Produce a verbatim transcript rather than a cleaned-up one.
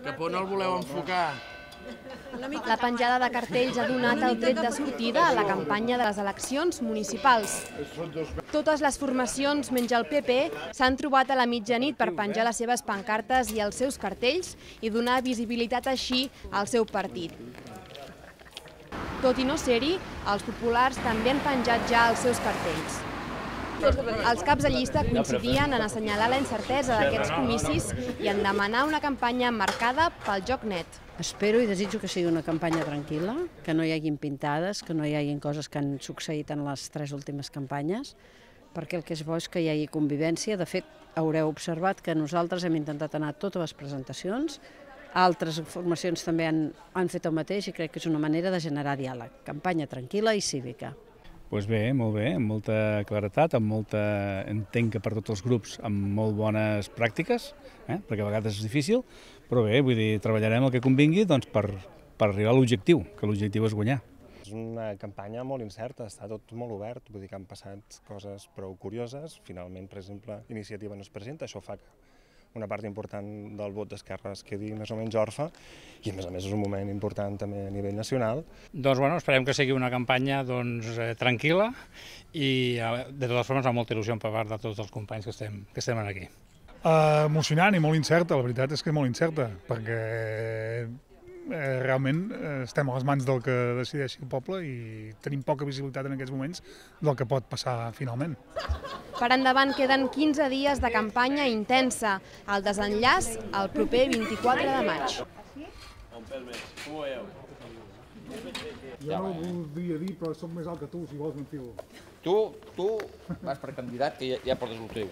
Cap on el voleu enfocar? La penjada de cartells ha donat el tret de sortida a la campanya de les eleccions municipals. Totes les formacions, menys el P P, s'han trobat a la mitjanit per penjar les seves pancartes i els seus cartells i donar visibilitat així al seu partit. Tot i no ser-hi, els populars també han penjat ja els seus cartells. Els caps de llista coincidien en assenyalar la incertesa d'aquests comicis i en demanar una campanya marcada pel joc net. Espero i desitjo que sigui una campanya tranquil·la, que no hi hagin pintades, que no hi hagin coses que han succeït en les tres últimes campanyes, perquè el que és bo és que hi hagi convivència. De fet, haureu observat que nosaltres hem intentat anar a totes les presentacions, altres formacions també han, han fet el mateix i crec que és una manera de generar diàleg. Campanya tranquil·la i cívica. Doncs bé, molt bé, amb molta claretat, amb molta... entenc que per tots els grups amb molt bones pràctiques, eh? perquè a vegades és difícil, però bé, vull dir, treballarem el que convingui doncs, per, per arribar a l'objectiu, que l'objectiu és guanyar. És una campanya molt incerta, està tot molt obert, vull dir que han passat coses prou curioses. Finalment, per exemple, Iniciativa no es presenta, això fa que una part important del vot d'Esquerra es quedi més o menys orfa i a més a més és un moment important també a nivell nacional. Doncs bueno, esperem que sigui una campanya doncs, eh, tranquil·la i de totes formes amb molta il·lusió per part de tots els companys que estem, que estem aquí. Uh, emocionant i molt incerta, la veritat és que és molt incerta, perquè eh, realment eh, estem a les mans del que decideixi el poble i tenim poca visibilitat en aquests moments del que pot passar finalment. Per endavant queden quinze dies de campanya intensa. El desenllaç el proper vint-i-quatre de maig. Jo no ho voldria dir, però soc més alt que tu, si vols m'enfilo. Tu, tu vas per candidat, que ja, ja portes el teu.